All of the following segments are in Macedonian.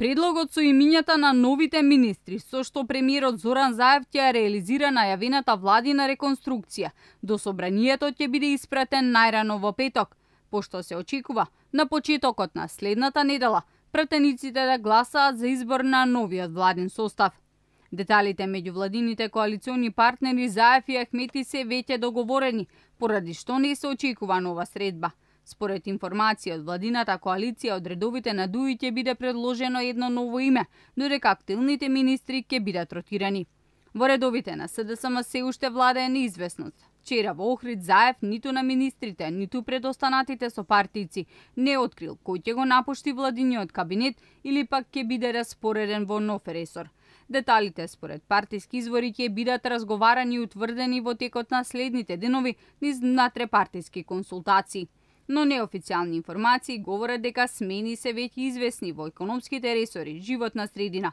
Предлогот со имињата на новите министри, со што премиерот Зоран Заев ќе реализира најавената владина реконструкција, до собранието ќе биде испратен најрано во петок, пошто се очекува на почетокот на следната недела пратениците да гласаат за избор на новиот владин состав. Деталите меѓу владините коалициони партнери Заев и Ахмети се веќе договорени, поради што не се очекува нова средба. Според информација од владината коалиција, од редовите на ДУИ ќе биде предложено едно ново име, додека активните министри ќе бидат ротирани. Во редовите на СДСМ се уште владее неизвестност. Вчера во Охрид Заев ниту на министрите, ниту пред останатите сопартијци не открил кој ќе го напушти владиниот кабинет или пак ќе биде распореден во нов ресор. Деталите според партиски извори ќе бидат разговарани и утврдени во текот на следните денови низ натрепартиски консултации. Но неофицијални информации говорат дека смени се веќе известни во економските ресори, животна средина.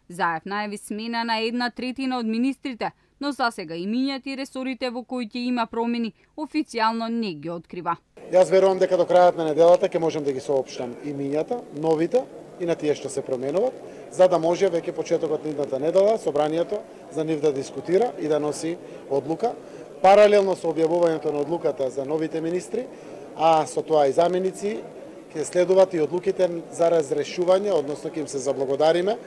Заев најави смена на 1/3 од министрите, но засега имињата и ресорите во кои ќе има промени официјално не ги открива. Јас верувам дека до крајот на неделата ќе можам да ги соопштам имињата, новите и на тие што се променуваат, за да може веќе почетокот на идната недела собранието за нив да дискутира и да носи одлука. Паралелно со објавувањето на одлуката за новите министри, а со тоа и заменици, ќе следуваат и одлуките за разрешување, односно ќе им се заблагодариме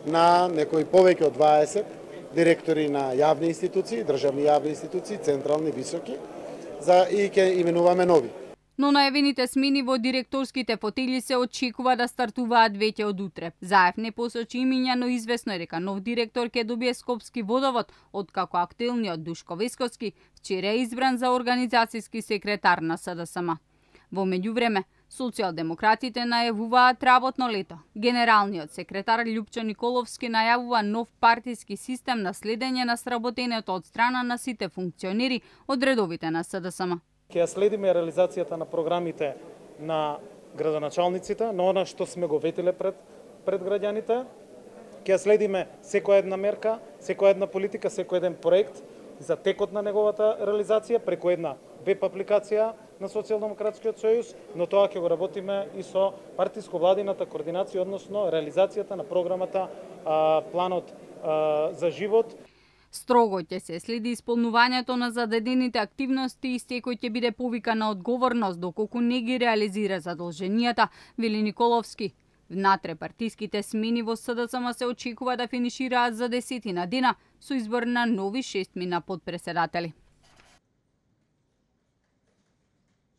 на некои повеќе од 20 директори на јавни институции, државни јавни институции, централни, високи, и ќе именуваме нови. Но најавените смени во директорските фотели се очекува да стартуваат веќе од утре. Заев не посочи имиња, но известно е дека нов директор ќе добие Скопски водовод, откако актуелниот Душко Весковски вчера е избран за организацијски секретар на СДСМ. Во меѓувреме, социјалдемократите најавуваат работно лето. Генералниот секретар Љупчо Николовски најавува нов партиски систем на следење на сработењето од страна на сите функционери од редовите на СДСМ. Ќе следиме реализацијата на програмите на градоначалниците, на она што сме го ветиле пред граѓаните. Ќе следиме секоја една мерка, секоја една политика, секој еден проект за текот на неговата реализација преку една веб апликација на Социјалдемократскиот сојуз, но тоа ќе го работиме и со партиско-владината координација, односно реализацијата на програмата Планот за живот. Строго ќе се следи исполнувањето на зададените активности и секој ќе биде повикан на одговорност доколку не ги реализира задолженијата, вели Николовски. Внатре партиските смени во СДСМ се очекува да финишираат за 10 дена со избор на нови 6 подпредседатели.